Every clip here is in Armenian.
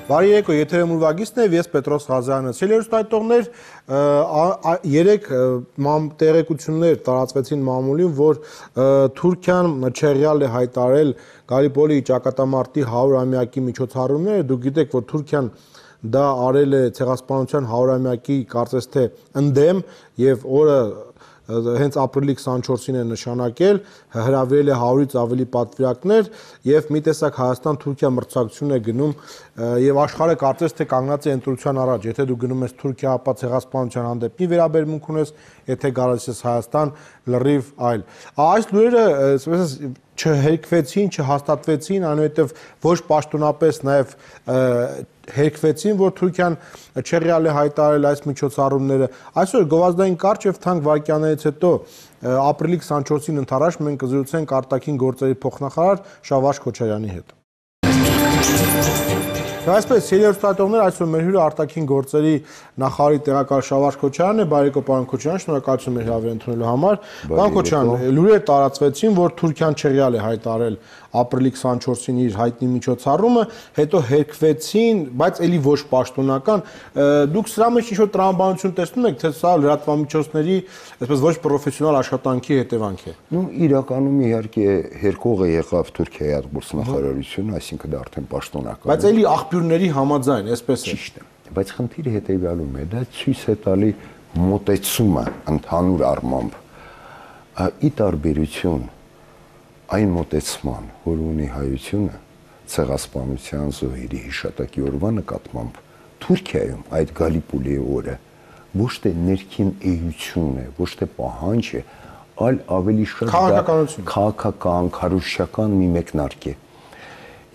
Բարի երեկո, եթերում ուրվագիծն է, ես Պետրոս Ղազարյանը։ Սիրելի երեք տեղեկություններ տարածվեցին մամուլին, որ Թուրքիան չեղյալ է հայտարարել Գալիպոլի ճակատամարտի 100-ամյակի միջոցառումները։ Դուք գիտեք, որ Թուրքիան դա արել է ցեղասպանության 100-ամյակի կարծես թե ընդդեմ եւ օրը հենց ապրիլի 24-ին է նշանակել, հրավիրել է 100-ից ավելի պատվիրակներ եւ մի տեսակ Հայաստան-Թուրքիա մրցակցություն է գնում եւ աշխարհը կարծես թե կանգնած է ընտրության առաջ, եթե դու գնում ես Թուրքիա, ապա ցեղասպանության հանդեպ մի վերաբերմունք ունես, եթե գալիս ես Հայաստան, լրիվ այլ։ Այս լուրերը, ասես չհերկվեցին, չհաստատվեցին, այնուհետև ոչ պաշտոնապես նաև հերկվեցին, որ Թուրքիան չեղյալ է հայտարարել այս միջոցառումները։ Այսօր գովազդային կարճ եւ թանկ վայրկյաններից հետո ապրիլի 24-ին ընթരാճ մենք կզրուցենք արտաքին գործերի փոխնախարար Շավարժ Քոչարյանի հետ։ Այսպես, սիրելի այսօր մեր հյուրը արտաքին գործերի նախարարի տեղակալ Շավարժ Քոչարյանն է, բարեկո պարոն Քոչարյան, շնորհակալություն մեր հրավեր ընդունելու համար։ Պարոն Քոչարյան, լուրեր տարածվեցին, որ Թուրքիան չեղյալ է հայտարարել ապրիլի 24-ին իր հայտնի միջոցառումը, հետո հերկվեցին, բայց էլի ոչ պաշտոնական։ Դուք սրա մեջ ինչ-որ տրամաբանություն տեսնում եք, թե սա լրատվամիջոցների, այսպես ոչ պրոֆեսիոնալ աշխատանքի հետևանք է։ Իրականում իհարկե հերկողը եղավ Թուրքիայի արտգործնախարարությունը, այսինքն դա արդեն պաշտոնական։ Բայց էլի աղբյուրների համաձայն, այսպես է։ Ճիշտ է։ Բայց խնդիրը հետևյալում է, դա ցույց է տալի մոտեցումը ընդհանուր առմամբ ի տարբերություն այն մոտեցման, որ ունի հայությունը ցեղասպանության զոհերի հիշատակի օրվա նկատմամբ, Թուրքիայում այդ Գալիպոլի օրը ոչ թե ներքին էություն է, ոչ թե պահանջ է, այլ ավելի շատ քաղաքական, քարոզչական մի մեկնարկ է։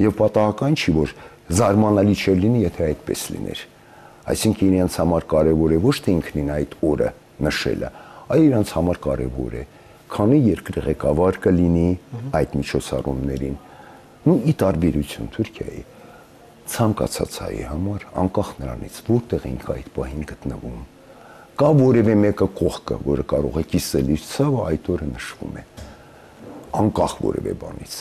Եվ պատահական չի, որ զարմանալի չէր լինի, եթե այդպես լիներ։ Այսինքն իրենց համար կարևոր է ոչ թե ինքնին այդ օրը նշելը, այլ իրենց համար կարևոր է, քանի երկրի ղեկավար կլինի այդ միջոցառումներին։ Ի տարբերություն Թուրքիայի ցանկացած հայի համար, անկախ նրանից, որտեղ ենք այդ պահին գտնվում, կա որևէ մեկը կողքը, որը կարող է կիսել իր ցավը, այդ օրը նշվում է, անկախ որևէ բանից։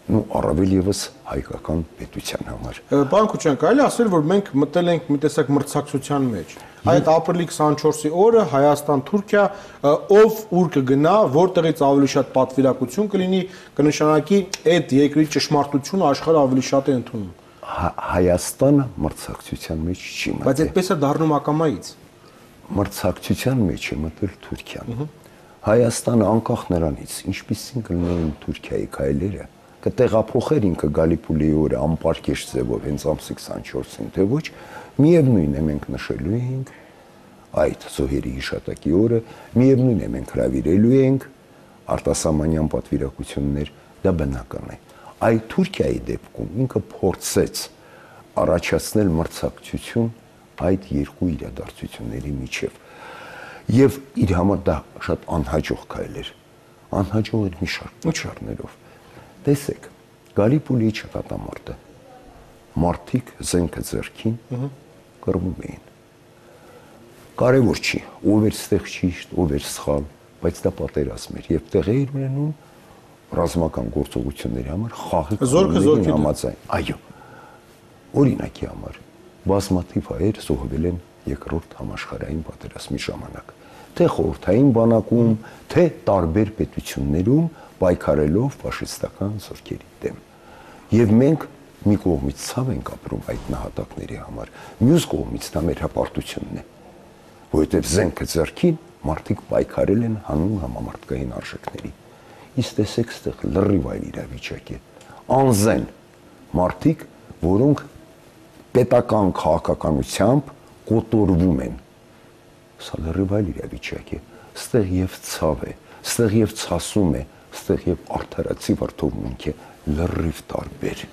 Առավել եւս հայկական պետության համար։ Պարոն Քոչարյան, կարելի է ասել, որ մենք մտել ենք մի տեսակ մրցակցության մեջ։ Այդ ապրիլի 24-ի օրը Հայաստան-Թուրքիա ով ուր կգնա, որտեղից ավելի շատ պատվիրակություն կլինի, կնշանակի այդ երկրի ճշմարտությունը աշխարհը ավելի շատ է ընդունում։ Հայաստանը մրցակցության մեջ չի մտել։ Բայց այդպես է դառնում ակամայից։ Մրցակցության մեջ է մտել Թուրքիան։ Հայաստանը անկախ նրանից, ինչպիսին կլինեն Թուրքիայի քայլերը, կտեղափոխեր ինքը Գալիպոլի օրը անպարկեշտ ձևով հենց ամսի 24-ին, թե ոչ, միևնույն է մենք նշելու ենք այդ զոհերի հիշատակի օրը, միևնույն է մենք հրավիրելու ենք արտասահմանյան պատվիրակություններ, դա բնական է։ Այդ Թուրքիայի դեպքում ինքը փորձեց առաջացնել մրցակցություն այդ երկու իրադարձությունների միջև։ Եվ իր համար դա շատ անհաջող քայլ էր։ Անհաջող էր մի շարք պատճառներով։ Տեսեք, Գալիպոլի ճակատամարտը մարդիկ զենքը ձեռքին կռվում էին։ Կարևոր չի, ով էր ստեղ ճիշտ, ով էր սխալ, բայց դա պատերազմ էր եւ տեղի էր ունենում ռազմական գործողությունների համար խաղի զորքը համաձայն։ Այո։ Օրինակի համար բազմաթիվ հայեր զոհվել են երկրորդ համաշխարհային պատերազմի ժամանակ, թե խորհրդային բանակում, թե տարբեր պետություններում պայքարելով ֆաշիստական զորքերի դեմ։ Եվ մենք մի կողմից ցավ ենք ապրում այդ նահատակների համար, մյուս կողմից դա մեր հպարտությունն է, որովհետև զենքը ձեռքին մարդիկ պայքարել են հանուն համամարտկային արժեքների։ Իսկ տեսեք, ստեղ լրիվ այլ իրավիճակ է։ Անզեն մարդիկ, որոնք պետական քաղաքականությամբ կոտորվում են։ Սա լրիվ այլ իրավիճակ է։ Ստեղ եւ ցավ է, ստեղ եւ ցասում է, ստեղ եւ արդարացի վրդովմունք է, լրիվ տարբեր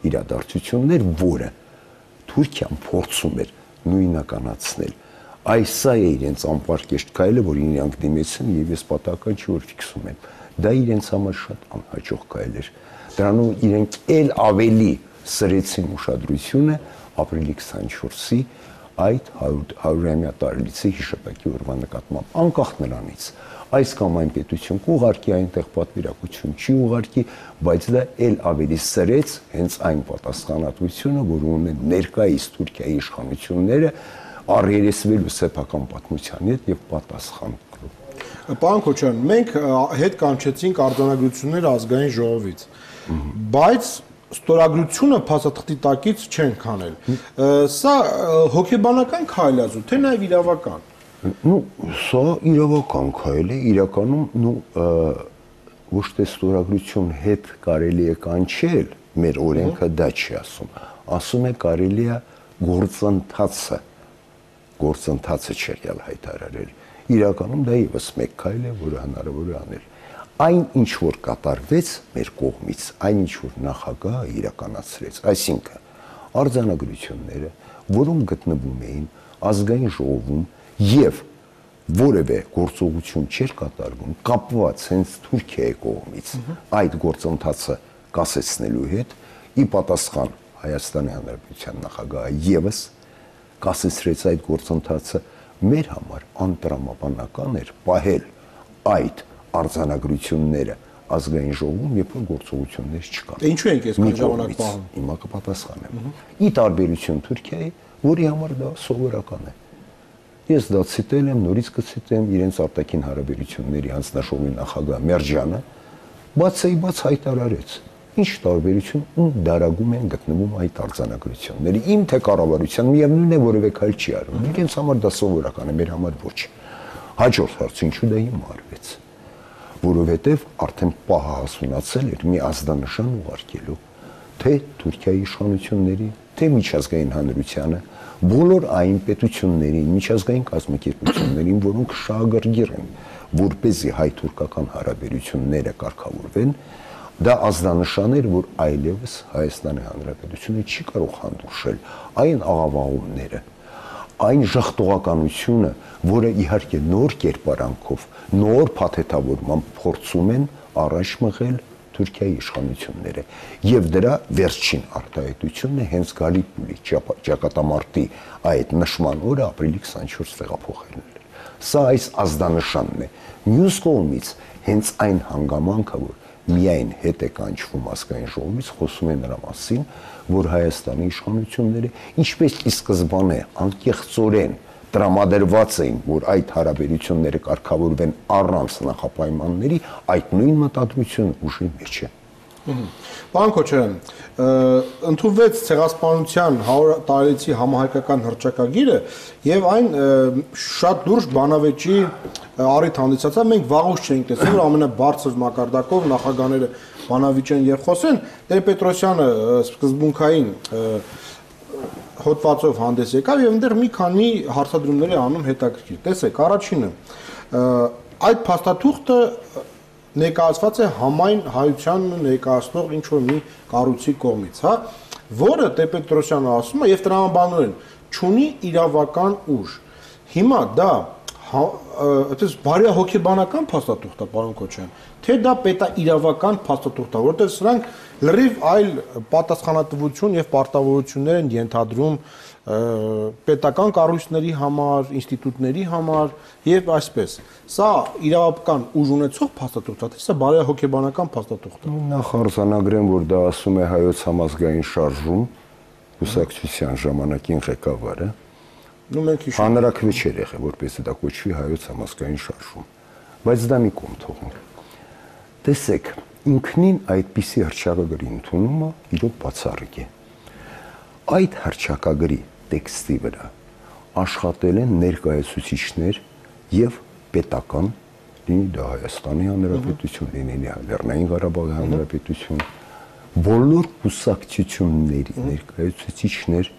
իրադարձություններ, որը Թուրքիան փորձում էր նույնականացնել։ Այս սա է իրենց անպարկեշտ քայլը, որին իրանք դիմեցին եւ ես պատահական չի որ ֆիքսում եմ։ Դա իրենց համար շատ անհաջող քայլ էր։ Դրանով իրենք ել ավելի սրեցին ուշադրությունը ապրիլի 24-ի այդ 100-ամյա տարելիցի հիշատակի օրվա նկատմամբ, անկախ նրանից, այս կամ այն պետություն կուղարկի այնտեղ պատվիրակություն չի ուղարկի, բայց դա էլ ավելի սրեց հենց այն պատասխանատվությունը, որ ունեն ներկայիս Թուրքիայի իշխանությունները առերեսվելու սեփական պատմության հետ եւ պատասխան տալու։ Պարոն Քոչարյան, մենք հետ կանչեցինք արձանագրությունները ազգային ժողովից, բայց ստորագրությունը փաստաթղթի տակից չեն քանել։ Սա հոգեբանական քայլ է, թե նաև իրավական։ Սա իրավական քայլ է, իրականում ոչ թե ստորագրություն հետ կարելի է կանչել, մեր օրենքը դա չի ասում, ասում է կարելի է գործընթացը չերյալ հայտարարել։ Իրականում դա ևս մեկ քայլ է, որը հնարավոր է անել։ Այն ինչ որ կատարվեց մեր կողմից, այն ինչ որ նախագահը իրականացրեց, այսինքն արձանագրությունները, որոնք գտնվում էին ազգային ժողովում եւ որևէ գործողություն չէր կատարվում, կապված հենց Թուրքիայի կողմից այդ գործընթացը կասեցնելու հետ, ի պատասխան Հայաստանի Հանրապետության նախագահը եւս կասեցրեց այդ գործընթացը, մեր համար անտրամաբանական էր պահել այդ արձանագրությունները ազգային ժողովում, երբ որ գործողություններ չկան։ Ինչու ենք այսքան ժամանակ պահում։ Հիմա կպատասխանեմ։ Ի տարբերություն Թուրքիայի, որի համար դա սովորական է։ Ես դա ցիտել եմ, նորից կցիտեմ իրենց արտաքին հարաբերությունների հանձնաժողովի նախագահ Մերջյանը, բաց հայտարարեց։ Ինչ տարբերություն ու դարագում են գտնվում այդ արձանագրությունները։ Իմ թե կառավարության միևնույն է որևէ քայլ չի արվում։ Իրենց համար դա սովորական է, մեր համար ոչ։ Հաջորդ հարցը ինչու դա հիմա արվեց։ Որովհետև արդեն պահը հասունացել էր մի ազդանշան ուղարկելու թե Թուրքիայի իշխանությունների, թե միջազգային հանրությանը, բոլոր այն պետություններին, միջազգային կազմակերպություններին, որոնք շահագրգիռ են, որպեսզի հայ-թուրքական հարաբերությունները կարգավորվեն, դա ազդանշան էր, որ այլևս Հայաստանի Հանրապետությունը չի կարող հանդուրժել այն աղավաղումները, այն ժխտողականությունը, որը իհարկե նոր կերպարանքով, նոր փաթեթավորմամբ փորձում են առաջ մղել Թուրքիայի իշխանությունները, եւ դրա վերջին արտահայտությունն է հենց Գալիպոլի ճակատամարտի այդ նշման օրը ապրիլի 24 տեղափոխելն էր։ Սա այս ազդանշանն է։ Մյուս կողմից հենց այն հանգամանքը, որ միայն հետ է կանչվում ազգային ժողովից, խոսում է նրա մասին, որ Հայաստանի իշխանությունները ինչպես ի սկզբանե անկեղծորեն տրամադրված էին, որ այդ հարաբերությունները կարգավորվեն առանց նախապայմանների, այդ նույն մտադրությունը ուժի մեջ է։ Պարոն Քոչարյան, ընդունվեց ցեղասպանության 100 տարելիցի համահայկական հռչակագիրը եւ այն շատ լուրջ բանավեճի առիթ հանդիսացավ։ Մենք վաղուց չէինք տեսել, որ ամենաբարձր մակարդակով նախագահները բանավիճեն եւ խոսեն։ Տեր-Պետրոսյանը սկզբունքային հոդվածով հանդես եկավ եւ այնտեղ մի քանի հարցադրումներ է անում հետաքրքիր։ Տեսեք, առաջինը այդ փաստաթուղթը ներկայացված է համայն հայությանն ներկայացնող ինչ որ մի կառույցի կողմից, հա, որը Տեր-Պետրոսյանը ասում է եւ տրամաբանորեն չունի իրավական ուժ։ Հիմա դա այդպես բարի հոգեբանական փաստաթուղթ է, պարոն Քոչարյան, թե դա պետաիրավական փաստաթուղթ է, որտեղ սրանք լրիվ այլ պատասխանատվություն եւ պարտավորություններ են ենթադրում պետական կառույցների համար, ինստիտուտների համար եւ այսպես։ Սա իրավական ուժ ունեցող փաստաթուղթ է, թե սա բարի հոգեբանական փաստաթուղթ է։ Նախ արձանագրեմ, որ դա ասում է Հայոց համազգային շարժում, կուսակցության ժամանակին ղեկավարը։ Հանրաքվե չէր եղել, որպեսզի դա կոչվի Հայոց համազգային շարժում, բայց դա մի կողմ թողնենք։ Տեսեք, ինքնին այդպիսի հռչակագրի ընդունումը իրոք բացառիկ է։ Այդ հռչակագրի տեքստի վրա աշխատել են ներկայացուցիչներ եւ պետական, լինի դա Հայաստանի Հանրապետություն, լինի Լեռնային Ղարաբաղի Հանրապետություն, բոլոր կուսակցությունների ներկայացուցիչներ,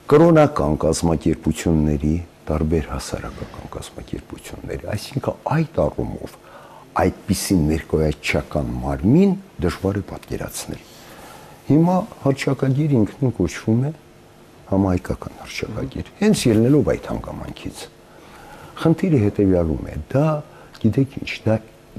կրոնական կազմակերպությունների, տարբեր հասարակական կազմակերպությունների, այսինքն այդ առումով այդպիսի ներկայացչական մարմին դժվար է պատկերացնել։ Հիմա հռչակագիր ինքնին կոչվում է համահայկական հռչակագիր, հենց ելնելով այդ հանգամանքից։ Խնդիրը հետևյալում է, դա, գիտեք ինչ, դա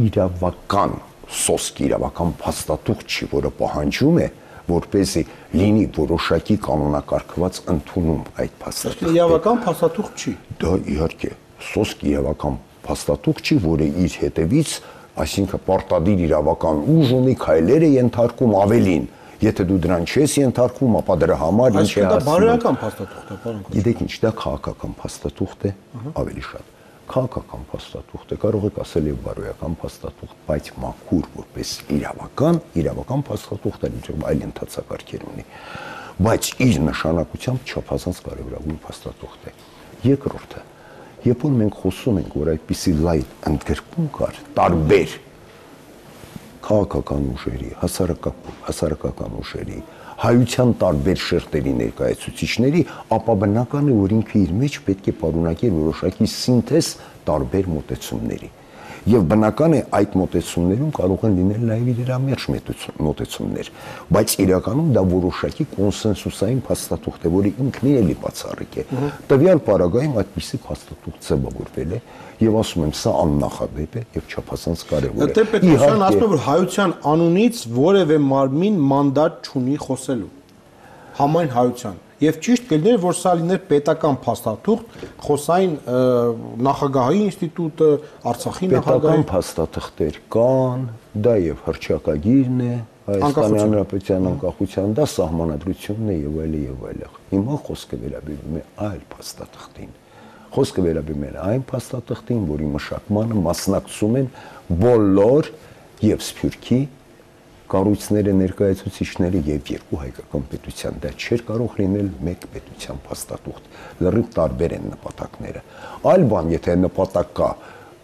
իրավական սոսկ, իրավական փաստաթուղթ չի, որը պահանջում է, որպեսզի լինի որոշակի կանոնակարգված ընդունում այդ փաստաթուղթը։ Իրավական փաստաթուղթ չի։ Դա իհարկե սոսկ իրավական փաստաթուղթ չի, որը իր հետևից, այսինքն պարտադիր իրավական ուժ ունի, քայլեր է ենթարկում ավելին։ Եթե դու դրան չես ենթարկվում, ապա դրա համար ինչ է ասում։ Դա բարոյական փաստաթուղթ է, պարոն Քոչարյան։ Գիտեք ինչ, դա քաղաքական փաստաթուղթ է, ավելի շատ։ Քաղաքական փաստաթուղթ է, կարող եք ասել եւ բարոյական փաստաթուղթ, բայց մաքուր որպես իրավական փաստաթուղթ է, այլ ընթացակարգեր ունի։ Բայց իր նշանակությամբ չափազանց կարևորագույն փաստաթուղթ է։ Երկրորդը, երբ որ մենք խոսում ենք, որ այդպիսի լայն ընդգրկում կար տարբեր քաղաքական ուժերի, հասարակական ուժերի, հայության տարբեր շերտերի ներկայացուցիչների, ապա բնական է, որ ինքը իր մեջ պետք է պարունակի որոշակի սինթեզ տարբեր մոտեցումների։ Եվ բնական է այդ մոտեցումներում կարող են լինել նաև իրամերժ մոտեցումներ, բայց իրականում դա որոշակի կոնսենսուսային փաստաթուղթ է, որը ինքնին էլի բացառիկ է։ Տվյալ պարագայում այդպիսի փաստաթուղթ ձևավորվել է եւ ասում եմ, սա աննախադեպ է եւ չափազանց կարեւոր է։ Տեր-Պետրոսյանն ասում է, որ հայության անունից որևէ մարմին մանդատ չունի խոսելու։ Համայն հայության։ Եվ ճիշտ կլիներ, որ սա լիներ պետական փաստաթուղթ, խոսային նախագահի ինստիտուտը, Արցախի նախագահի։ Պետական փաստաթղթեր կան, դա եւ հռչակագիրն է, Հայաստանի Հանրապետության անկախության, դա սահմանադրությունն է եւ այլն։ Հիմա խոսքը վերաբերում է այլ փաստաթղթին։ Խոսքը վերաբերում է այն փաստաթղթին, որի մշակմանը մասնակցում են բոլոր եւ Սփյուռքի կառույցները, ներկայացուցիչները եւ երկու հայկական պետության, դա չէր կարող լինել մեկ պետության փաստաթուղթ, լրիվ տարբեր են նպատակները։ Այլ բան, եթե նպատակ կա,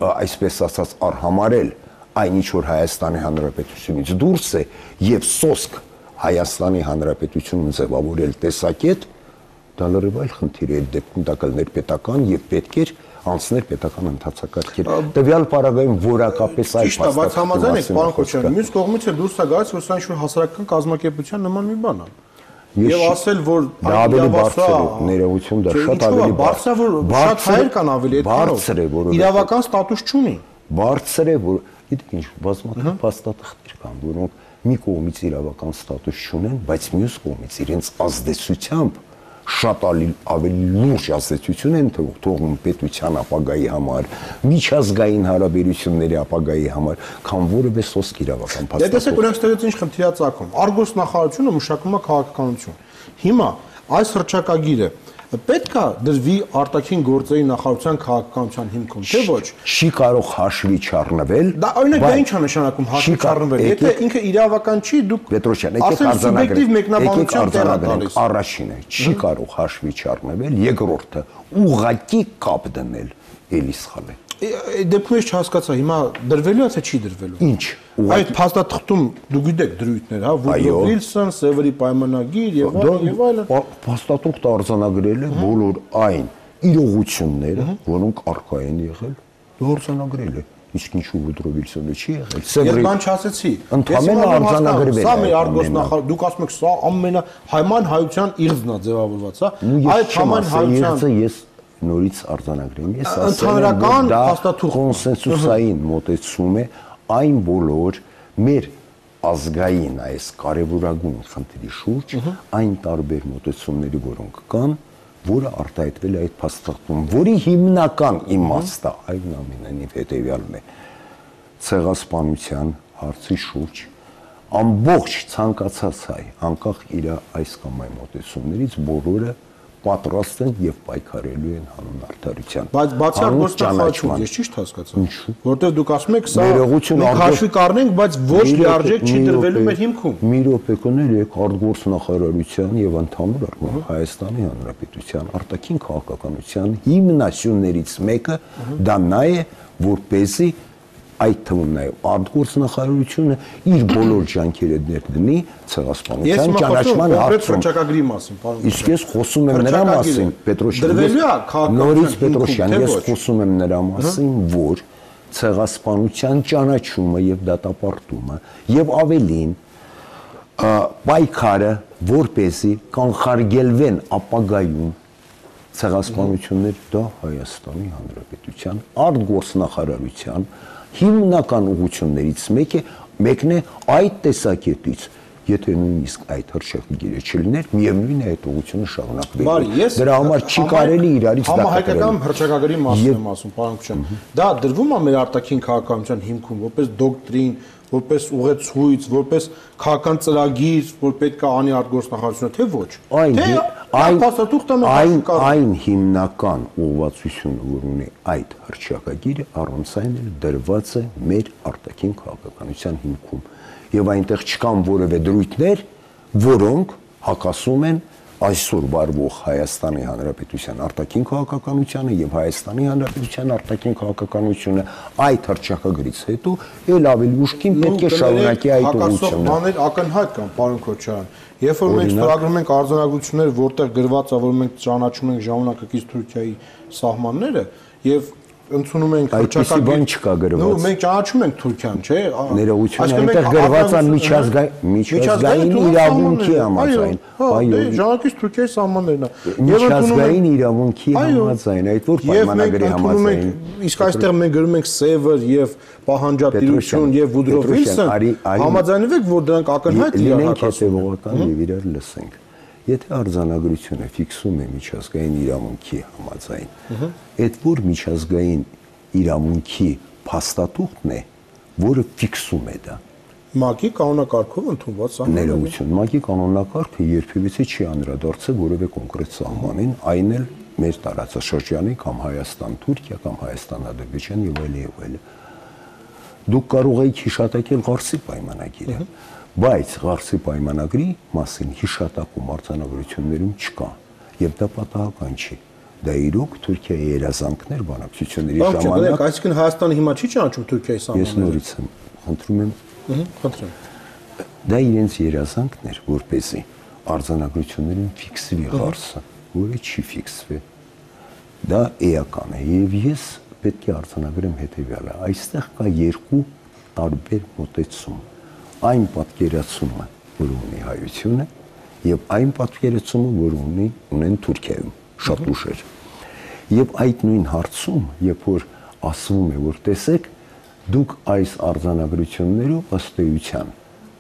այսպես ասած, արհամարել այն ինչ որ Հայաստանի Հանրապետությունից դուրս է եւ սոսկ Հայաստանի Հանրապետությունում ձևավորել տեսակետ, դա լրիվ այլ խնդիր է, դեպքում դա կլներ պետական եւ պետք էր անցներ պետական ընթացակարգեր։ Տվյալ պարագայում որակապես այլ փաստաթուղթ։ Ճիշտ է, բայց համաձայն եք, պարոն Քոչարյան, մյուս կողմից էլ դուրս է գալիս, որ սա ինչ-որ հասարակական կազմակերպության նման մի բան է։ Եվ ասել, որ դա ավելի բարձր է, ներողություն, դա շատ ավելի բարձր է, որ շատ հայեր կան ավելի բարձր է, որ իրավական ստատուս չունի։ Բարձր է, որ գիտեք ինչ, բազմաթիվ փաստաթղթեր կան, որոնք մի կողմից իրավական ստատուս չունեն, բայց մյուս կողմից իրենց ազդեցությամբ շատ ավելի լուրջ ազդեցություն են թողնում պետության ապագայի համար, միջազգային հարաբերությունների ապագայի համար, քան որևէ սոսկ իրավական փաստաթուղթ։ Դե տեսեք, օրինակ ստեղծեց ինչ խնդիր է ծագում։ Արգոս նախարարությունը մշակում է քաղաքականություն։ Հիմա այս հռչակագիրը պետք է դրվի արտաքին գործերի նախարարության քաղաքականության հիմքում, թե ոչ։ Չի կարող հաշվի չառնվել։ Դա օրինակ դա ինչ է նշանակում հաշվի չառնվել։ Եթե ինքը իրավական չի, դուք Պետրոսյան, առաջինը չի կարող հաշվի չառնվել, երկրորդը ուղղակի կապ դնել, էլի սխալ է։ Դեպքում ես չհասկացա, հիմա դրվելու է թե չի դրվելու։ Ինչ։ Այդ փաստաթղթում դու գիտեք դրույթներ, հա, Վուդրո Վիլսոն, Սևերի պայմանագիր եւ այլն։ Փաստաթուղթը արձանագրել է բոլոր այն իրողությունները, որոնք առկա են եղել, արձանագրել է։ Իսկ ինչու Վուդրո Վիլսոնը չի եղել։ Ես բան չասեցի։ Ընդհանրապես արձանագրվել է։ Սա մեր արգոս նախարար, դուք ասում եք, սա համայն հայության իղձն է ձևավորված, հա։ Այդ համայն հայության ես նորից արձանագրեմ։ Ես ասել եմ, որ դա կոնսենսուսային մոտեցում է այն բոլոր մեր ազգային այս կարևորագույն խնդրի շուրջ, այն տարբեր մոտեցումների, որոնք կան, որը արտահայտվել է այդ փաստաթղթում, որի հիմնական իմաստը այնուամենայնիվ հետևյալն է. ցեղասպանության հարցի շուրջ ամբողջ ցանկացած հայ, անկախ իր այս կամ այն մոտեցումներից, բոլորը պատրաստ են եւ պայքարելու են հանուն արդարության։ Բայց բացի արգոս նախարարությունից ես ճիշտ հասկացա։ Որտեվ դուք ասում եք, սա մենք հաշվի կառնենք, բայց ոչ լիարժեք չի դրվելու մեր հիմքում։ Մի րոպե կներեք, արգոս նախարարության եւ ընդհանուր առմամբ Հայաստանի Հանրապետության արտաքին քաղաքականության հիմնասյուներից մեկը դա նա է, որպեսզի այդ թվում նաև արտգործ նախարարությունը իր բոլոր ջանքերը ներդնի ցեղասպանության ճանաչման հարցում։ Իսկ ես խոսում եմ նրա մասին, Պետրոսյան, նորից Պետրոսյան, ես խոսում եմ նրա մասին, որ ցեղասպանության ճանաչումը եւ դատապարտումը եւ ավելին պայքարը, որպեսզի կանխարգելվեն ապագայում ցեղասպանություններ, դա Հայաստանի Հանրապետության արտգործ նախարարության հիմնական ուղղություններից մեկն է այդ տեսակետից Եթե նույնիսկ այդ հրճակագիրը չլիներ, միևնույն է այդ ուղղությունը շարունակվի։ Դրա համար չի կարելի իրարից դա համահայկական հրճակագրի մասին եմ ասում, պարոն Քուչյան։ Դա դրվում է մեր արտաքին քաղաքականության հիմքում, որպես դոկտրին, որպես ուղեցույց, որպես քաղաքական ծրագիր, որ պետք է անի արտգործնախարարությունը, թե ոչ։ Այն հիմնական ուղղվածությունը, որ ունի այդ հրճակագիրը, առանց այն էլ դրված է մեր արտաքին քաղաքականության հիմքում։ Եվ այնտեղ չկան որևէ դրույթներ, որոնք հակասում են այսօր վարվող Հայաստանի Հանրապետության արտաքին քաղաքականությանը եւ Հայաստանի Հանրապետության արտաքին քաղաքականությունը այդ հրճակագրից հետո ել ավելի ուշքին պետք է շարունակի այդ ուղղությունը։ Բաներ ակնհայտ կան, պարոն Քոչարյան։ Երբ որ մենք ստորագրում ենք արձանագրություններ, որտեղ գրված է, որ մենք ճանաչում ենք ժամանակակից Թուրքիայի սահմանները եւ ընդունում ենք հրճակագիր, բան չկա գրված։ Մենք ճանաչում ենք Թուրքիան, չէ՞։ Ներողություն, այնտեղ գրված է միջազգային իրավունքի համաձայն։ Այո, ժամանակից Թուրքիայի սահմաններն է։ Միջազգային իրավունքի համաձայն, այդ որ պայմանագրի համաձայն։ Իսկ այստեղ մենք գրում ենք Սևր եւ պահանջատիրություն եւ Վուդրո Վիլսոն, համաձայնվեք, որ դրանք ակնհայտ լինենք հետեւողական եւ իրար լսենք։ Եթե արձանագրությունը ֆիքսում է միջազգային իրավունքի համաձայն, այդ որ միջազգային իրավունքի փաստաթուղթն է, որը ֆիքսում է դա։ ՄԱԿ-ի կանոնակարգով ընդունված սահմաններ։ Ներողություն, ՄԱԿ-ի կանոնակարգը երբևիցե չի անդրադարձել որևէ կոնկրետ սահմանին, այն էլ մեր տարածաշրջանի կամ Հայաստան-Թուրքիա կամ Հայաստան-Ադրբեջան եւ այլն։ Դուք կարող եք հիշատակել Ղարսի պայմանագիրը, բայց Ղարսի պայմանագրի մասին հիշատակում արձանագրություններում չկա, եւ դա պատահական չի։ Դա իրոք Թուրքիայի երազանքներ բանակցությունների ժամանակ։ Այսինքն Հայաստանը հիմա չի ճանաչում Թուրքիայի սահմանները։ Ես նորից եմ խնդրում եմ։ Խնդրեմ։ Դա իրենց երազանքն էր, որպեսզի արձանագրություններում ֆիքսվի Ղարսը, որը չի ֆիքսվի։ Դա էական է, եւ ես պետք է արձանագրեմ հետեւյալը. այստեղ կա երկու տարբեր մոտեցում։ Այն պատկերացումը, որ ունի հայությունը, եւ այն պատկերացումը, որ ունեն Թուրքիայում, շատ ուշեր։ Եվ այդ նույն հարցում, երբ որ ասվում է, որ տեսեք, դուք այս արձանագրություններով ըստ էության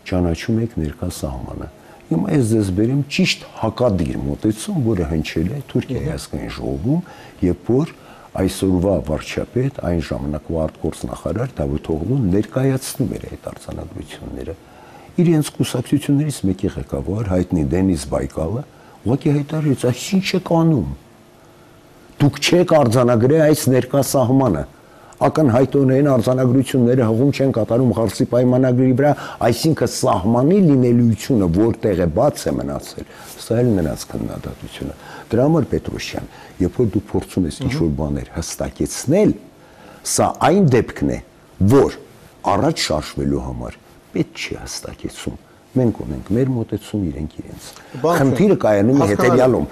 ճանաչում եք ներկա սահմանը։ Հիմա ես ձեզ բերեմ ճիշտ հակադիր մոտեցում, որը հնչել է Թուրքիայի ազգային ժողովում, երբ որ այսօրվա վարչապետ, այն ժամանակվա արտգործնախարար Դավիթ Օղլուն ներկայացնում էր այդ արձանագրությունները։ Իրենց կուսակցություններից մեկի ղեկավար հայտնի Դենիս Բայկալը ուղղակի հայտարարեց, այս ինչ եք անում։ Դուք չեք արձանագրել այս ներկա սահմանը։ Ակնհայտորեն արձանագրությունները հղում չեն կատարում Ղարսի պայմանագրի վրա, այսինքն սահմանի լինելիությունը որտեղ է բաց է մնացել, սա էլ նրանց քննադատությունը։ Դրա համար Պետրոսյան, երբ որ դու փորձում ես ինչ-որ բաներ հստակեցնել, սա այն դեպքն է, որ առաջ շարժվելու համար պետք չի հստակեցում։ Մենք ունենք մեր մոտեցում, իրենք իրենց։ Խնդիրը կայանում է հետևյալում,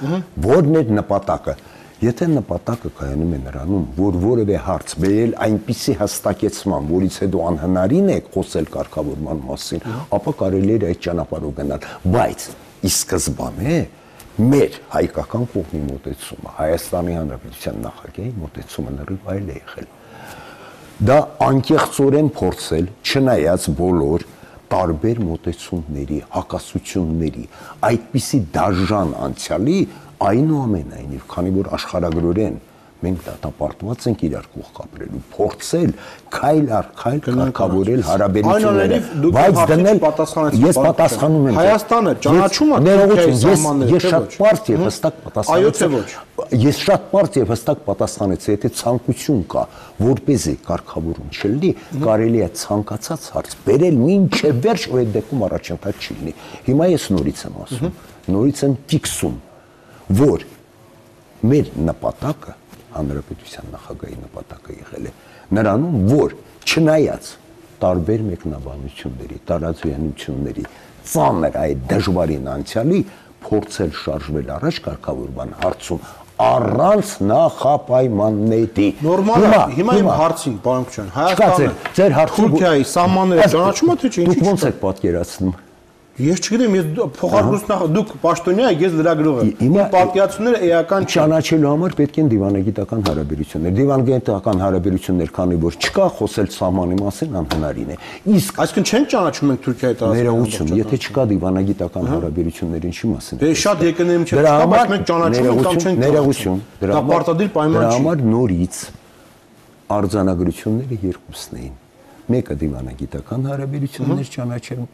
որն է նպատակը։ Եթե նպատակը կայանում է նրանում, որ որևէ հարց բերել այնպիսի հստակեցման, որից հետո անհնարին է խոսել կարգավորման մասին, ապա կարելի է այդ ճանապարհով գնալ, բայց ի սկզբանե մեր հայկական կողմի մոտեցումը, Հայաստանի Հանրապետության նախագահի մոտեցումը լրիվ այլ է եղել։ Դա անկեղծորեն փորձել, չնայած բոլոր տարբեր մոտեցումների, հակասությունների, այդպիսի դաժան անցյալի, այնուամենայնիվ, քանի որ աշխարհագրորեն մենք դատապարտված ենք իրար կողք ապրելու, փորձել քայլ առ քայլ կարգավորել հարաբերությունները, բայց դնել ես պատասխանում եմ Հայաստանը ճանաչում է Թուրքիայի սահմանները, ես շատ պարզ եւ հստակ պատասխանեցի։ Ես շատ պարզ եւ հստակ պատասխանեցի, եթե ցանկություն կա, որպեսզի կարգավորում չլինի, կարելի է ցանկացած հարց բերել մինչև վերջ, ու այդ դեպքում առաջընթաց չի լինի։ Հիմա ես նորից եմ ասում, նորից եմ ֆիքսում, որ մեր նպատակը Հանրապետության նախագահի նպատակը եղել է նրանում, որ չնայած տարբեր մեկնաբանությունների, տարածությունների, ծանր այդ դժվարին անցյալի, փորձել շարժվել առաջ կարգավորման հարցում առանց նախապայմանների։ Նորմալ է, հիմա իմ հարցին, պարոն Քոչարյան, Հայաստանը Թուրքիայի սահմանները ճանաչում է թե չէ, դուք ո՞նց եք պատկերացնում։ Ես չգիտեմ, ես փոխարկությունն դուք պաշտոնյա եք, ես լրագրող եմ։ Իմ պատկերացումները էական չեն։ Ճանաչելու համար պետք են դիվանագիտական հարաբերություններ։ Դիվանագիտական հարաբերություններ, քանի որ չկա, խոսել սահմանի մասին անհնարին է։ Իսկ այսինքն չեն ճանաչում ենք Թուրքիայի տարածքները։ ներողություն, եթե չկա դիվանագիտական հարաբերություններ, ինչի մասին է։ Դե շատ եկնեմ չէ, բայց մենք ճանաչում ենք կամ չենք։ Ներողություն, դա պարտադիր պայման չի։ Դրա համար նորից արձանագրությունները երկուսն էին։ Մեկը դիվանագիտական հարաբերություններ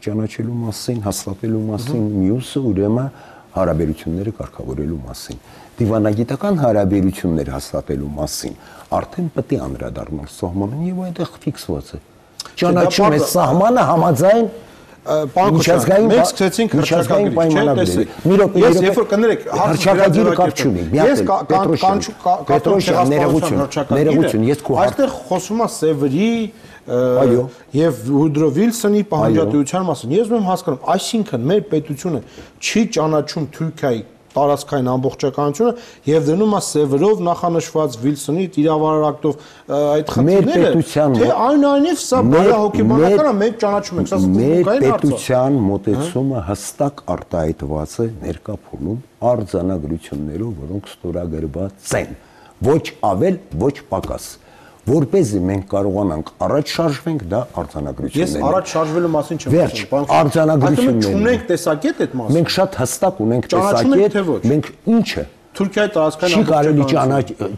ճանաչելու մասին, հաստատելու մասին, մյուսը ուրեմն հարաբերությունները կարգավորելու մասին։ Դիվանագիտական հարաբերություններ հաստատելու մասին արդեն պետք է անդրադառնալ սահմանին եւ այնտեղ ֆիքսված է։ Ճանաչում է սահմանը համաձայն միջազգային մենք սկսեցինք հռչակագրի պայմանագրի։ Ես երբ որ կներեք հռչակագրի կապ չունի։ Ես Պետրոսյան ներողություն, ես քո այստեղ խոսում եմ Սևերի եւ Ուդրո Վիլսոնի պահանջատվության մասին։ Ես ում հասկանում, այսինքն մեր պետությունը չի ճանաչում Թուրքիայի տարածքային ամբողջականությունը եւ դնում է Սևերով նախանշված Վիլսոնի իրավարար ակտով այդ խնդիրները։ Թե այնուամենայնիվ սա բարահոգեբանական է, մենք ճանաչում ենք, սա մեր պետության մոտեցումը հստակ արտահայտված է ներկա փուլում արձանագրություններով, որոնք ստորագրված են։ Ոչ ավել, ոչ պակաս։ Որպեսզի մենք կարողանանք առաջ շարժվենք, դա արձանագրություններն են։ Ես առաջ շարժվելու մասին չեմ խոսում, արձանագրություններ։ Չունենք տեսակետ այդ մասին։ Մենք շատ հստակ ունենք տեսակետ, մենք ինչը Թուրքիայի տարածքային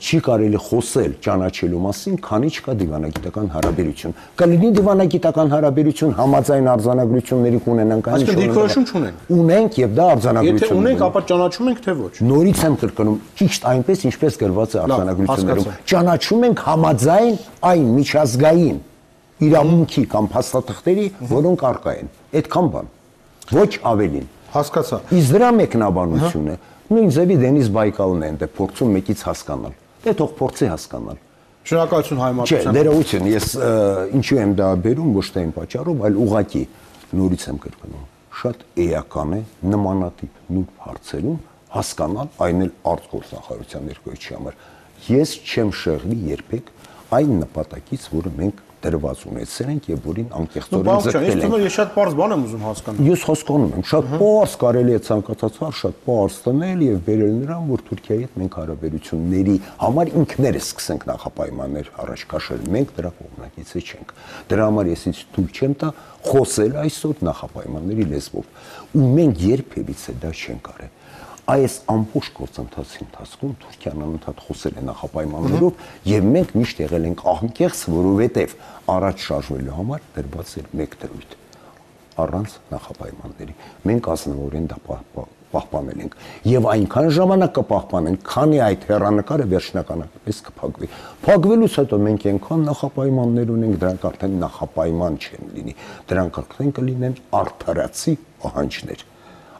չի կարելի խոսել ճանաչելու մասին, քանի չկա դիվանագիտական հարաբերություն։ Կլինի դիվանագիտական հարաբերություն համաձայն արձանագրությունների կունենանք, այսինքն դիրքորոշում չունենք։ Ունենք եւ դա արձանագրություն։ Եթե ունենք, ապա ճանաչում ենք թե ոչ։ Նորից եմ կրկնում, ճիշտ այնպես ինչպես գրված է արձանագրություններում։ Ճանաչում ենք համաձայն այն միջազգային իրավունքի կամ փաստաթղթերի, որոնք առկա են։ Այդքան բան։ Ոչ ավելին։ Հասկացա։ Իսկ դրա մեկնաբանությունը նույն ձևի Դենիս Բայկալն է այնտեղ փորձում մեկից հասկանալ։ Դե թող փորձի հասկանալ։ Շնորհակալություն հայմատության։ Չէ, ներողություն, ես ինչու եմ դա բերում, ոչ թե այն պատճառով, այլ ուղղակի նորից եմ կրկնում։ Շատ էական է նմանատիպ նույն հարցերում հասկանալ այն էլ արտգործնախարարության ներկայացի համար։ Ես չեմ շեղվի երբեք այն նպատակից, որը մենք դրված ունեցել ենք եւ որին անկեղծորեն ձգտել ենք։ Ես շատ པարզ բան եմ ուզում հասկանալ։ Ես հասկանում եմ, շատ པարզ կարելի է ցանկացած շատ པարզ տնել եւ բերել նրան, որ Թուրքիայի հետ մենք հարաբերությունների համար ինքներս սկսենք նախապայմաններ առաջ քաշել։ Մենք դրա կողմնակիցը չենք։ Դրա համար ես ինձ թույլ չեմ տա խոսել այսօր նախապայմանների լեզվով։ Ու մենք երբևիցե դա չենք արել։ Այս ամբողջ գործընթացի ընթացքում Թուրքիան անընդհատ խոսել է նախապայմաններով եւ մենք միշտ եղել ենք անկեղծ, որովհետեւ առաջ շարժվելու համար դրված էր մեկ դրույթ առանց նախապայմանների։ Մենք ազնվորեն դա պահպանել ենք եւ այնքան ժամանակ կպահպանենք, քանի այդ հեռանկարը վերջնականապես կփակվի։ Փակվելուց հետո մենք այնքան նախապայմաններ ունենք, դրանք արդեն նախապայման չեն լինի։ Դրանք արդեն կլինեն արդարացի պահանջներ։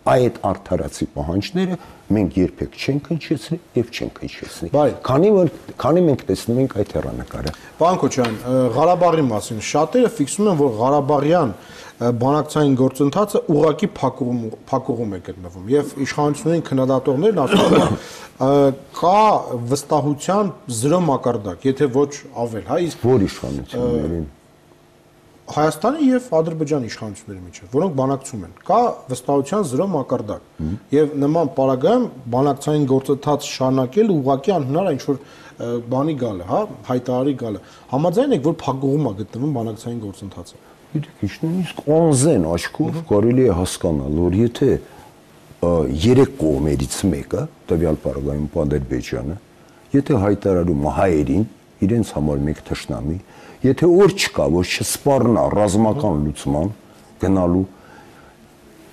Այդ արդարացի պահանջները մենք երբեք չենք հնչեցնի եւ չենք հնչեցնի։ Քանի մենք տեսնում ենք այդ հեռանկարը։ Պարոն Քոչարյան, Ղարաբաղի մասին շատերը ֆիքսում են, որ Ղարաբաղյան բանակցային գործընթացը ուղղակի փակուղում է գտնվում եւ իշխանությունների քննադատողներն ասում են կա վստահության 0 մակարդակ, եթե ոչ ավել, հա, իսկ որ իշխանություններին Հայաստանի եւ Ադրբեջանի իշխանությունների միջեւ, որոնք բանակցում են, կա վստահության 0 մակարդակ եւ նման պարագայում բանակցային գործընթաց շարունակել ուղղակի անհնար է ինչ-որ բանի գալը, հա, հայտարարի գալը։ Համաձայն եք, որ փակուղում է գտնվում բանակցային գործընթացը։ Գիտեք, ինչ նույնիսկ անզեն աչքով կարելի է հասկանալ, որ եթե երեք կողմերից մեկը, տվյալ պարագայում Ադրբեջանը, եթե հայտարարում հայերին իրենց համար մեկ թշնամի, եթե օր չկա, որ չսպառնա ռազմական լուծման գնալու,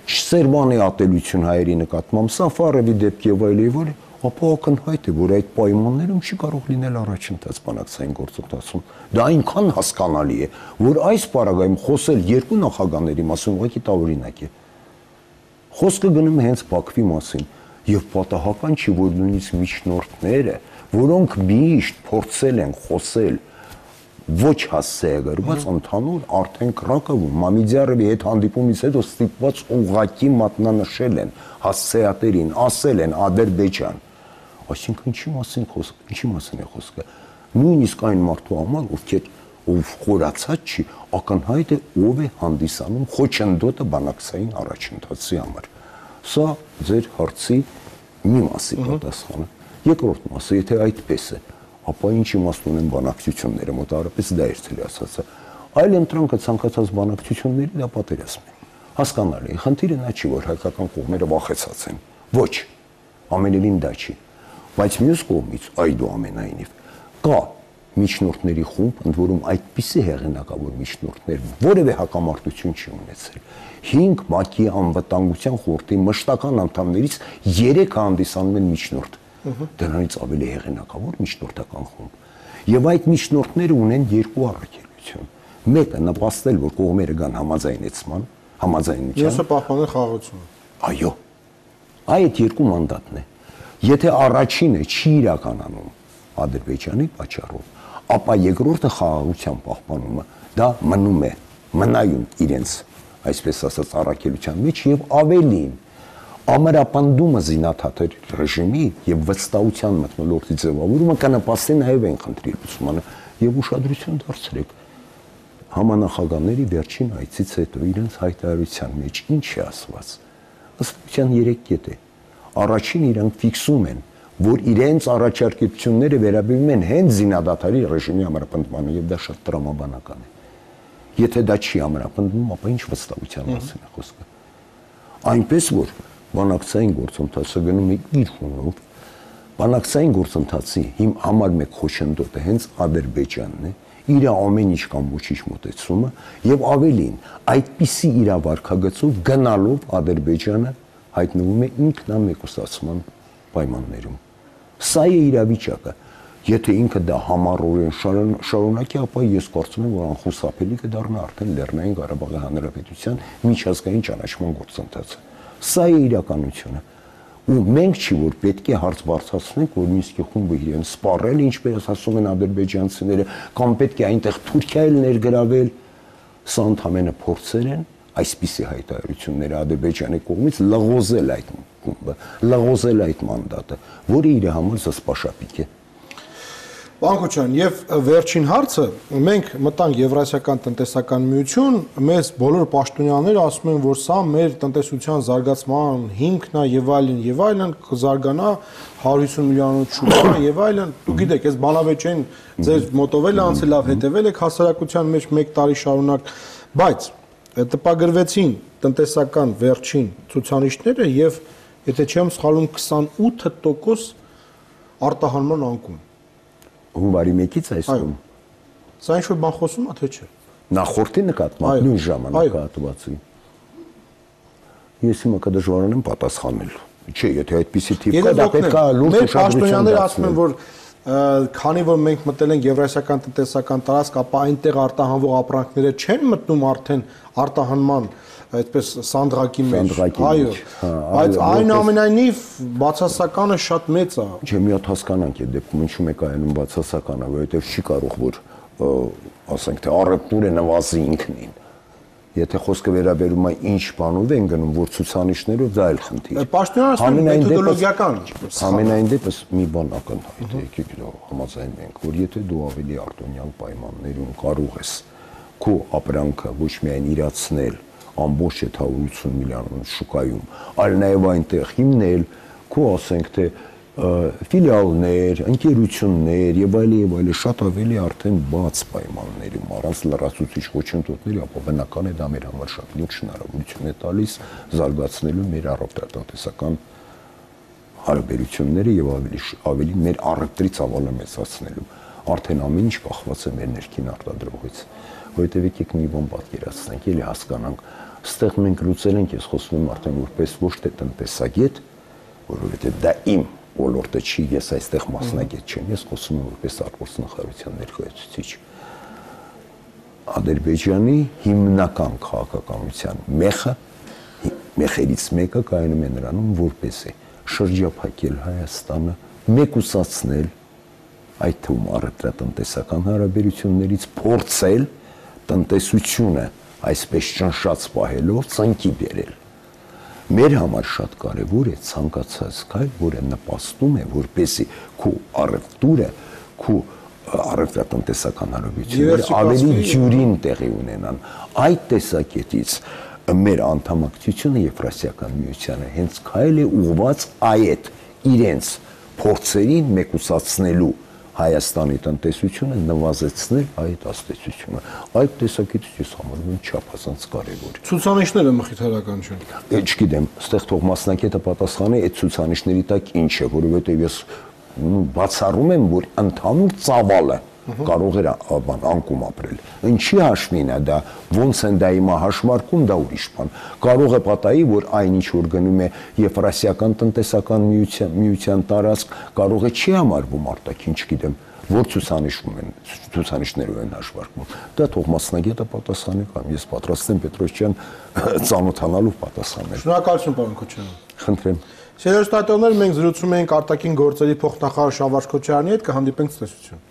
չսերմանի ատելություն հայերի նկատմամբ, Սաֆարովի դեպքի եւ այլն, ապա ակնհայտ է, որ այդ պայմաններում չի կարող լինել առաջընթաց բանակցային գործընթացում։ Դա այնքան հասկանալի է, որ այս պարագայում խոսել երկու նախագահների մասին ուղղակի տարօրինակ է։ Խոսքը գնում է հենց Բաքվի մասին եւ պատահական չի, որ նույնիսկ միջնորդները, որոնք միշտ փորձել են խոսել ոչ հասցեագրված ընդհանուր արդեն Կրակովում Մամիդյարովի հետ հանդիպումից հետո ստիպված ուղղակի մատնանշել են հասցեատերին, ասել են Ադրբեջան։ Այսինքն ինչի մասին է խոսքը։ Նույնիսկ այն մարդու համար, ովքեր ով խորացած չի, ակնհայտ է ով է հանդիսանում խոչընդոտը բանակցային առաջընթացի համար։ Սա ձեր հարցի մի մասի պատասխանը։ Երկրորդ մասը, եթե այդպես է, ապա ինչ իմաստ ունեն բանակցությունները, մոտավորապես դա էր ցելի ասածը։ Այլ ընտրանքը ցանկացած բանակցությունների դա պատերազմ է։ Հասկանալի է, խնդիրը նա չի, որ հայկական կողմերը վախեցած են։ Ոչ, ամենևին դա չի։ Բայց մյուս կողմից, այդուամենայնիվ, կա միջնորդների խումբ, ընդ որում այդպիսի հեղինակավոր միջնորդներ որևէ հակամարտություն չի ունեցել։ 5 ՄԱԿ-ի անվտանգության խորհրդի մշտական անդամներից 3-ը հանդիսանում են միջնորդ։ Դրանից ավելի հեղինակավոր միջնորդական խումբ։ Եվ այդ միջնորդները ունեն երկու առաքելություն։ Մեկը նպաստել, որ կողմերը գան համաձայնեցման, համաձայնության։ Մյուսը պահպանել խաղաղությունը։ Այո։ Այդ երկու մանդատն է։ Եթե առաջինը չի իրականանում Ադրբեջանի պատճառով, ապա երկրորդը խաղաղության պահպանումը դա մնում է, մնայուն իրենց, այսպես ասած, առաքելության մեջ եւ ավելին ամրապնդումը զինաթաթեր ռեժիմի եւ վստահության մթնոլորտի ձևավորումը կնպաստի նաեւ այն խնդրի լուծմանը եւ ուշադրություն դարձրեք համանախագահների վերջին այցից հետո իրենց հայտարարության մեջ ինչ է ասված ըստության 3 կետ է առաջին իրանք ֆիքսում են որ իրենց առաջարկությունները վերաբերում են հենց զինադադարի ռեժիմի ամրապնդմանը եւ դա շատ տրամաբանական է եթե դա չի ամրապնդվում ապա ինչ վստահության մասին է խոսքը այնպես որ բանակցային գործընթացը գնում է իր հունով բանակցային գործընթացի հիմ համար մեկ խոչընդոտը հենց Ադրբեջանն է իր ամեն ինչ կամ ոչինչ մոտեցումը եւ ավելին այդպիսի իրավարքագծով գնալով Ադրբեջանը հայտնվում է ինքնամեկուսացման պայմաններում սա է իրավիճակը եթե ինքը դա համառորեն շարունակի ապա ես կարծում եմ որ անխուսափելի կդառնա արդեն Լեռնային Ղարաբաղի Հանրապետության միջազգային ճանաչման գործընթացը սա է իրականությունը ու մենք չի որ պետք է հարց բարձրացնենք որ Մինսկի խումբը իրեն սպառել ինչպես ասում են ադրբեջանցիները կամ պետք է այնտեղ Թուրքիա էլ ներգրավել սա ընդհանրապես փորձեր են այսպիսի հայտարարությունները Ադրբեջանի կողմից լղոզել այդ խումբը լղոզել այդ մանդատը որը իր համար զսպաշապիկ է Պարոն Քոչարյան, եւ վերջին հարցը, մենք մտանք Եվրասիական տնտեսական միություն, մեզ բոլոր պաշտոնյաները ասում են, որ սա մեր տնտեսության զարգացման հիմքն է եւ այլն, կզարգանա 150 միլիոնով շուկա եւ այլն։ Դուք գիտեք, այս բանավեճային ձեր մոտովել է անցել լավ հետեւել եք հասարակության մեջ 1 տարի շարունակ, բայց տպագրվեցին տնտեսական վերջին ցուցանիշները եւ եթե չեմ սխալվում 28% արտահանման անկում հունվարի 1-ից այսօր։ Սա ինչ-որ բան խոսում է, թե չէ։ Նախորդի նկատմամբ նույն ժամանակահատվածի։ Ես հիմա կդժվարանեմ պատասխանել։ Չէ, եթե այդպիսի թիվ կա, դա պետք է լուրջ ուշադրություն դարձնել։ Մեր պաշտոնյաները ասում են, որ քանի որ մենք մտել ենք Եվրասիական տնտեսական տարածք, ապա այնտեղ արտահանվող ապրանքները չեն մտնում արդեն արտահանման այդպես սանդղակի մեջ, այո, բայց այնուամենայնիվ բացասականը շատ մեծ է։ Չէ, մի հատ հասկանանք այդ դեպքում ինչու մեկ այանում բացասական է, որովհետև չի կարող որ ասենք թե առևտուրը նվազի ինքնին։ Եթե խոսքը վերաբերում է ինչ բանով են գնում, որ ցուցանիշներով դա էլ խնդիր։ Պաշտոնյաները մեթոդոլոգիական։ Ամենայն դեպս մի բան ակնհայտ է, եկեք համաձայնենք ենք, որ եթե դու ավելի արտոնյալ պայմաններում կարող ես քո ապրանքը ոչ միայն իրացնել ամբողջ 780 միլիոն շուկայում, այլ նաև այնտեղ հիմնել, քո ասենք թե ֆիլիալներ, ընկերություններ եւ այլ շատ ավելի արդեն բաց պայմաններում առանց լրացուցիչ խոչընդոտների, ապա բնական է դա մեր համար շատ լուրջ հնարավորություն է տալիս զարգացնելու մեր առողջատնտեսական հարաբերությունները եւ ավելի մեր առևտրի ծավալը մեծացնելու։ Արդեն ամեն ինչ կախված է մեր ներքին արտադրողից։ Որովհետեւ եկեք մի բան պատկերացնենք, ելի հասկանանք, այստեղ մենք լուծել ենք, ես խոսում եմ արդեն որպես ոչ թե տնտեսագետ, որովհետեւ դա իմ ոլորտը չի, ես այստեղ մասնագետ չեմ, ես խոսում եմ որպես արտգործնախարարության ներկայացուցիչ։ Ադրբեջանի հիմնական քաղաքականության մեխերից մեկը կայանում է նրանում, որպես է շրջափակել Հայաստանը, մեկուսացնել այդ թվում առևտրատնտեսական հարաբերություններից փորձել տնտեսությունը այսպես ճնշած պահելով ծնկի բերել։ Մեր համար շատ կարևոր է ցանկացած քայլ, որը նպաստում է, որպեսզի քո առևտուրը, քո առևտրատնտեսական հարաբերությունները ավելի ջուրին տեղի ունենան։ Այդ տեսակետից մեր անդամակցությունը Եվրասիական միությանը հենց քայլ է ուղղված այդ իրենց փորձերին մեկուսացնելու Հայաստանի տնտեսությունը նվազեցնել այդ աստեցությունը։ Այդ տեսակետից ես համարում եմ չափազանց կարևոր։ Ցուցանիշները մխիթարական չեն։ Չգիտեմ, այստեղ թող մասնակետը պատասխանի այդ ցուցանիշների տակ ինչ է, որովհետև ես բացառում եմ, որ ընդհանուր ծավալը կարող էր անկում ապրել։ Ինչի հաշվին է դա, ոնց են դա հիմա հաշմարկում, դա ուրիշ բան։ Կարող է պատահի, որ այնինչ որ գնում է Եվրասիական տնտեսական միության տարածք, կարող է չի համարվում արտաքին, չգիտեմ, որ ցուցանիշներով են հաշվարկվում։ Դա թող մասնագետը պատասխանի կամ ես պատրաստ եմ Պետրոս ջան ծանոթանալու պատասխանել։ Շնորհակալություն պարոն Քոչարյան։ Խնդրեմ։ Սիրելի մենք զրուցում էինք արտաքին գործերի փոխնախարար Շավարժ Քոչարյանի հետ, կհանդիպենք ցտեսություն։